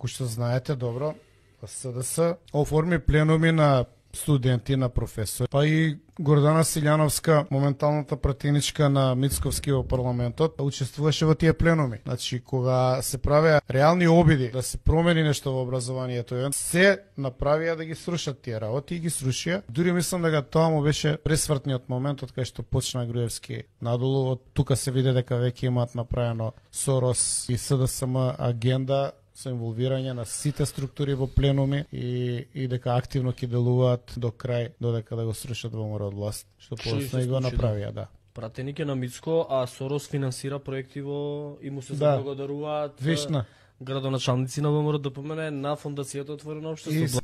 како што знаете добро, СДС оформи пленуми на студенти, на професори, па и Гордана Силјановска, моменталната пратеничка на Мицковски во парламентот, учествуваше во тие пленуми. Значи, кога се правеа реални обиди да се промени нешто во образованието, се направија да ги срушат тие работи и ги срушија. Дури мислам дека тоа му беше пресвртниот момент од кај што почна Груевски надолу. Од тука се виде дека веќе имаат направено Сорос и СДСМ агенда со инволвирање на сите структури во пленуми и дека активно ќе делуваат до крај, додека да го срушат ВМРО од власт, што посна и го направија, да. Пратеник е на Мицко, а Сорос финансира проекти во и му се заблагодаруваат Вишна градоначалници на ВМРО ДПМН на фондацијата Отворено општество.